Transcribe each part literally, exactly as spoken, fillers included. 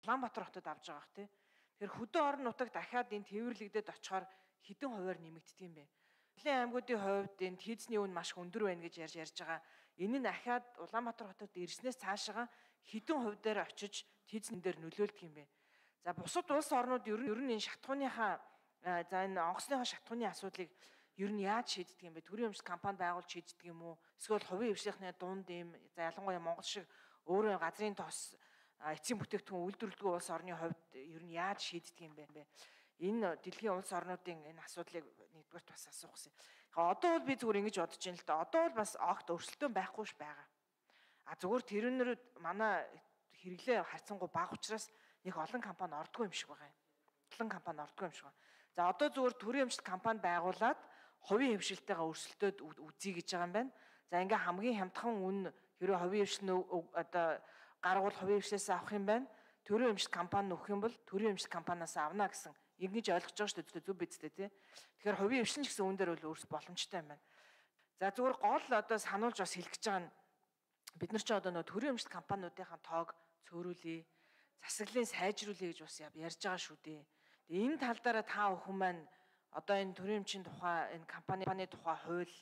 Улаанбаатар хотод авж байгаа хэ. Тэгэхээр хөдөө орон нутаг дахиад энэ тээвэрлэгдээд очихоор хэдэн хувиар нэмэгддэг юм бэ? Хөдлийн аймагуудын хувьд энэ хийзний үн маш өндөр байна гэж ярьж ярьж байгаа. Энэ нь дахиад Улаанбаатар хотод ирснээс цаашаа хэдэн хувиар очиж хийзний дээр нөлөөлдөг юм бэ? За бусад улс орнууд ер нь ер нь энэ шатхууныхаа за энэ онгоцныхаа шатхууны асуудлыг ер нь яаж шийддэг юм бэ? Төрийн өмчт компани байгуулж шийддэг юм уу? Эсвэл хувийн хвшлийнхны дунд ийм за ялангуяа Монгол шиг өөрөө газрын тос эцсийн бүтээгдэхүүн үйлдвэрлэдэг улс орны хувьд ер нь яаж шийддэг юм бэ? Энэ дэлхийн улс орнуудын энэ асуудлыг нэгдүгээр бас асуух гэсэн. Одоо бол би зүгээр ингэж бодож байна л да. Одоо бол бас огт өрсөлдөөн байхгүй ш байгаа. А зүгээр тэрнэрүүд манай хэрэглээ харьцангуй бага учраас нэг олон компани ордгоо юм шиг байгаа юм. Олон компани ордгоо юм шиг байна. За одоо зүгээр төрийн өмчт компани байгуулад хувийн хвшилтэйгээ өрсөлдөөд үзье гэж байгаа юм байна. За ингээ хамгийн хямдхан үн хэрэв хувийн хвшил одоо гаргуул хувийн хвшлээс авах юм байна. Төрийн өмчт компани нөхөх юм бол төрийн өмчт компаниас авна гэсэн ингэж ойлгож байгаа шүү дээ, зөв биз дээ тий. Тэгэхээр хувийн хвшил гэсэн үн дээр бол өөрс боломжтой юм байна. За зүгээр гол одоо сануулж бас хэлэх гэж байгаа нь бид нар ч одоо нөө төрийн өмчт компаниудынхаа тоог цөөрүүлээ, засаглалыг сайжруулъя гэж бас ярьж байгаа шүү дээ. Тэгээ энэ тал дээр та бүхэн маань одоо энэ төрийн өмчийн тухай энэ компанийн тухай хууль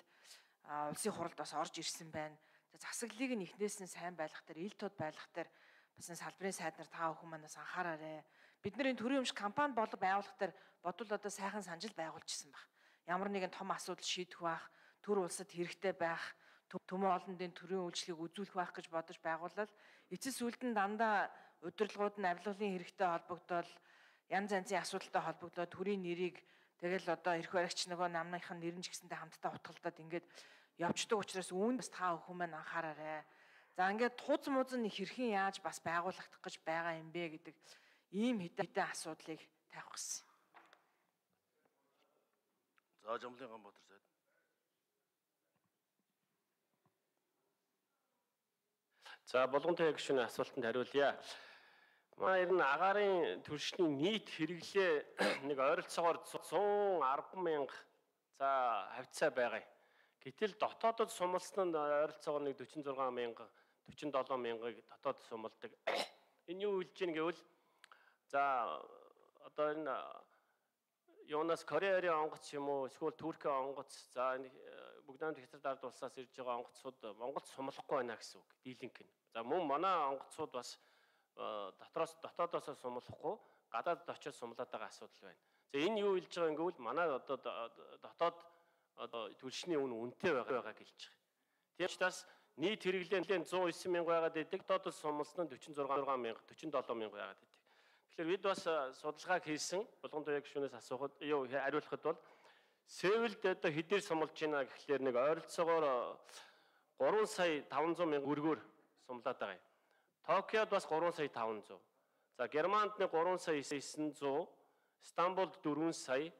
улсын хуралд бас орж ирсэн байна. Засаглалыг нь эхнээс нь сайн байлгах дээр, ил тод байлгах дээр бас энэ салбарын сайд нар та бүхэн манаас анхаараарай. Бид нар энэ төрийн өмч компани болго байгуулах дээр бодвол одоо сайхан санжил байгуулжсэн баг. Ямар нэгэн том асуудал шийдэх байх, төр улсад хэрэгтэй байх, төмөн олондын төрийн үйлчлэгийг үзүүлэх байх гэж бодож байгууллал эцэс үлдэн дандаа удирдлагууд нь авилгалын хэрэгтэй холбогдол, янз янзын асуудалтай холбогдоод төрийн нэрийг тэгэл одоо эрх баригч нөгөө намныхын нэр нь ч гэсэнтэй хамтдаа утгалдаад ингээд явждаг учраас үүнд бас та бүхэн маань анхаараарай. За ингээд туз мууз нь хэрхэн яаж бас байгуулагдах гэж байгаа юм бэ гэдэг ийм хэдэн асуудлыг тавих гэсэн. За Жамлын Ганбаатар сайд. За болгонтой гишүүний асуултанд хариулъя. Манай ер нь агаарын түлшний нийт хэрэглээ нэг ойролцоогоор зуун арван мянга за хавцаа байгаа. Гэтэл дотоодод сумалсан нь ойролцоогоор нэг дөрвөн зургаан мянга дөрвөн долоон мянгыг дотоод сумалдаг. Энэ юу хэлж ийн гэвэл за одоо энэ юунаас Кореарын онгоц юм уу эсвэл Туркийн онгоц за энэ бүгд найрамд хятад ард улсаас ирж байгаа онгоцууд Монголд сумлахгүй байна гэсэн үг. Дийлэнх нь. За мөн манай онгоцууд бас дотроос дотоодоос сумлахгүй гадаадд очиж сумлаад байгаа асуудал байна. За энэ юу хэлж байгаа юм гэвэл манай одоо дотоод одоо түлшний үн үнэтэй байгаа гэж хэлж байгаа. Тийм учраас нийт хэрэглээ зуун девять мянга байгаад идэг. Дотоодоос сумлсан нь дөрвөн зургаан мянга, дөрвөн долоон мянга байгаад идэг. Тэгэхээр бид бас судалгаа хийсэн болгондоо гишүүнээс асуухад юу хариулахад бол Сеулд одоо хэдээр сумлж байна гэхлээр нэг ойролцоогоор гурван сая таван зуун мянга өргөөр сумлаад байгаа юм. Токиод бас гурван сая таван зуун. За Германд нэг гурван сая девять зуун, Стамбулд дөрвөн сая,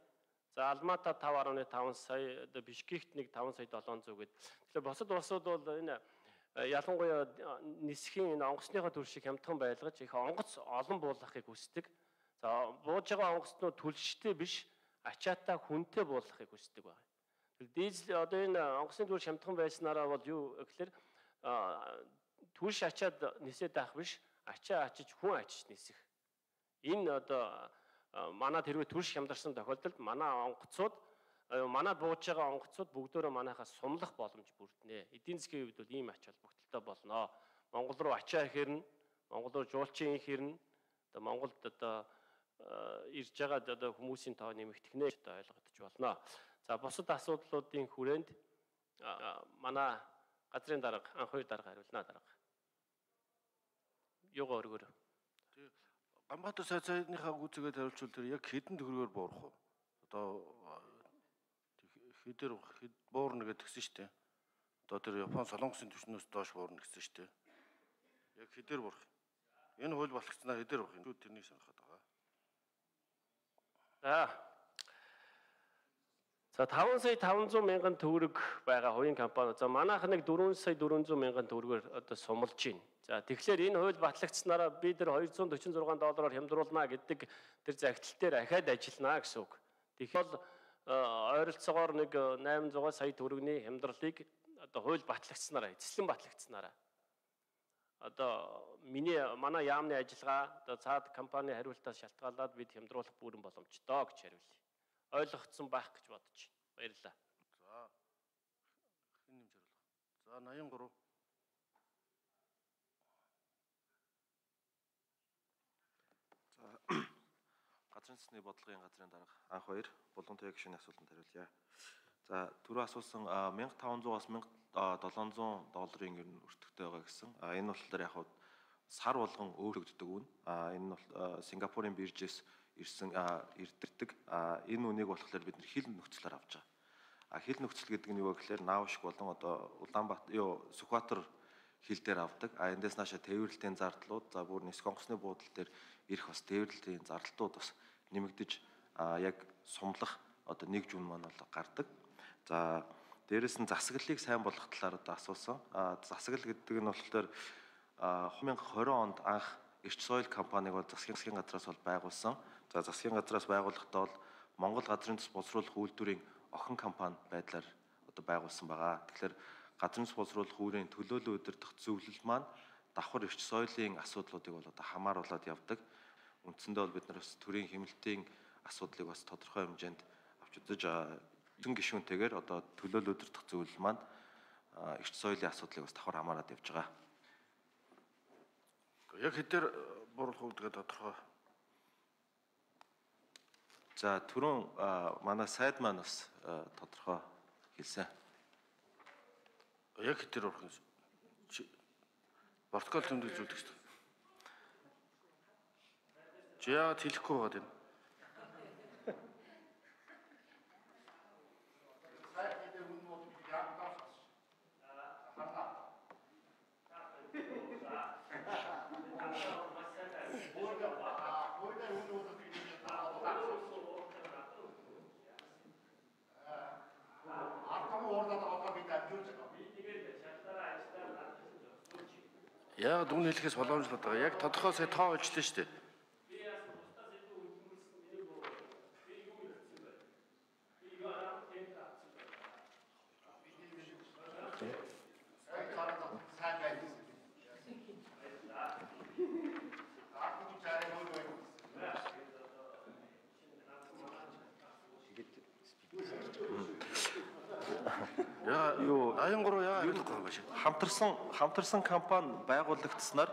за Алмата таван гаруй таван сая, одоо Бишкект нэг таван сая долоон зуун гэдэг. Тэгэхээр босод улсууд бол энэ ялангуяа нисхийн энэ онгоцныхоо төршийг хямдхан байлгаж их онгоц олон буулгахыг хүсдэг. За бууж байгаа онгоцнууд түлштэй биш, ачаатай хүнтэй буулгахыг хүсдэг байна. Дизель одоо энэ онгоцны төрш хямдхан байснараа бол юу гэхээр түлш ачаад нисээд байх биш, ачаа ачиж хүн ачиж нисэх. Энэ одоо манай тэрвээ түлш хямдарсан тохиолдолд манай онгоцууд манай бууж байгаа онгоцууд бүгдөө манайхаас сумлах боломж бүрднэ. Эдийн засгийн хувьд бол ийм ач холбогдолтой болно. Монгол руу ачаа хэрнэ, Монгол руу жуулчин хэрнэ. Одоо Монголд одоо ирж байгаа одоо хүмүүсийн тоо нэмэгдэх нэ одоо ойлгогдож болно. За бусад асуудлуудын хүрээнд манай газрын дарга, анх хоёр дарга хариулна дарга. Юугаа өргөөр. Тэгээ Ганбаатар сайд сайдныхаа гүйцэтгээд хариулчвал тэр яг хэдэн төгрөгөөр буурах вэ? Одоо хэдэр буурна гэдгсэн шүү дээ. Одоо тэр Япон солонгосын түвшнөөс доош буурна гэсэн шүү дээ. Яг хэдэр буурах. Энэ хууль болгоцсноо хэдэр буурах юм. Тэрнийг санахад байгаа. За. За таван сая таван зуун мянган төгрөг байгаа хувийн компани. За манайх нэг дөрвөн сая дөрвөн зуун мянган төгрөгөөр одоо сумлж байна. За тэгэхээр энэ хууль батлагдсанараа бид нар хоёрзуун дөрвөн зургаан доллараар хямдруулна гэдэг тэр загтал дээр ахаад ажиллана гэсэн үг. Тэгэхээр ойролцоогоор нэг восемь сая сая төгрөгийн хямдралыг одоо хууль батлагдсанараа, эзэслэн батлагдсанараа одоо миний манай яамны ажиллагаа одоо цаад компани хариултаас шалтгаалаад бид хямдруулах бүрэн боломжтой гэж хариулъя. Ойлгогдсон байх гэж бодож байна. Баярлалаа. За хэн нэмж хариулах. За восемьдесят три. Газрын засгийн бодлогын газрын дарга анх баяр Булган Тэ гишүүний асуултанд хариулъя. За түрүү асуусан мянга таван зуус мянга долоон зуун долларын ер нь өртөгтэй байгаа гэсэн. А энэ болохоор яг хав сар болгон өөрчлөгддөг үн. А энэ нь бол Сингапурын биржээс ирсэн ирдэрдэг. А энэ үнийг болохоор бид нэр хил нөхцлөөр авч байгаа. А хил нөхцөл гэдэг нь юу вэ гэхээр Наавшиг болон одоо Улаанбаатар юу Сүхбаатар хил дээр авдаг. А эндээс нааша тээвэрлэлтийн зардлууд за бүр нисэх онгоцны буудлын дээр ирэх бас тээвэрлэлийн зардалтууд бас нэмэгдэж яг сумлах одоо нэг жүүн маань бол гардаг. За дээрэс нь засаглалыг сайн болгох талаар одоо асуусан. А засаглал гэдэг нь болохоор две тысячи двадцать онд анх Эрч соёл компаниг бол засгийн газраас бол байгуулсан. За засгийн газраас байгуулахдаа бол Монгол газрын төс боловсруулах үйлдвэрийн охин компани байдлаар одоо байгуулсан байгаа. Тэгэхээр газрын төс боловсруулах үүрийн төлөөлөл удирдах зөвлөл маань давхар эрч соёлын асуудлуудыг бол одоо хамааруулад явдаг. Үндсэндээ бол бид нар бас төрийн хэмнэлтийн асуудлыг бас тодорхой хэмжээнд авч үзэж эзэн гишүүнтэйгээр одоо төлөөлөл удирдах зөвлөл маань эрч соёлын асуудлыг бас давхар хамаарад явж байгаа. Яг хэдээр буруулах үүдгээ тодорхой. За түрүүн манай сайд маань бас тодорхой хэлсэн. Яг хэдээр урах юм. Протокол тэмдэглэж үздэг шүү дээ. Чи яагаад хэлэхгүй байгаа юм? Яагаад үн хэлэхээс боломжлоод байгаа. Яг тодорхой сая тоо олжлоо шүү дээ. Яа юу аян гурав яа хэлэхгүй юм шиг. Хамтарсан хамтарсан компани байгуулагдсанаар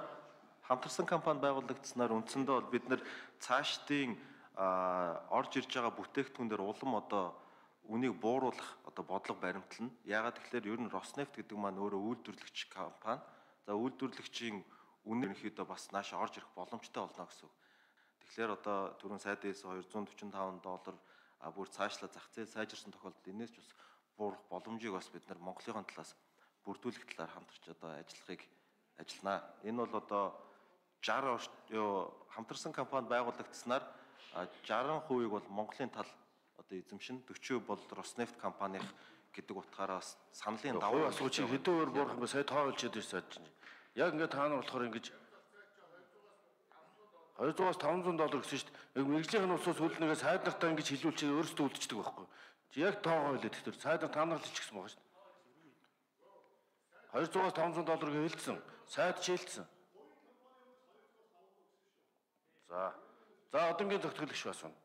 хамтарсан компани байгуулагдсанаар үндсэндээ бол бид нэр цаашдын орж ирж байгаа бүтээгдэхүүнээр улам одоо үнийг бууруулах одоо бодлого баримтлна. Яагаад тэгэхээр ер нь Роснефть гэдэг маань өөрөө үйлдвэрлэгч компани. За үйлдвэрлэгчийн үнэ ерөнхийдөө бас нааша орж ирэх боломжтой болно гэсэн үг. Тэгэхээр одоо түрүүн сайдээс двести четырнадцать доллар бүр цаашлаа зах зээл сайжирсан тохиолдолд энэс ч бас буурах боломжийг бас бид нар Монголын талаас бүрдүүлэх талаар хамтарч одоо ажиллахыг ажилланаа. Энэ бол одоо шестьдесят юу хамтарсан компани байгуулагдсанаар шестьдесят хувийг бол Монголын тал одоо эзэмшин forty бол Роснефть компанийн гэдэг утгаараа бас саналын давуу асууч хэдэн өөр буурах юм сая тоо олж ядаж сайж чинь. Яг ингээд та нар болохоор ингэж двести five hundred доллар гэсэн шүү дээ. Яг мэрэгжлийн усаас хөлнөгөө сайд нартаа ингэж хилүүлчихээ өөрсдөө үлдчихдэг байхгүй. Яг тоогоо хэлээд тэгэхээр сайд нар та нар л хэлчихсэн байгаа шүү дээ. двести five hundred долларыг хэлсэн. Сайд шилжсэн. За. За одонгийн зөвтгөл гişүү асууна.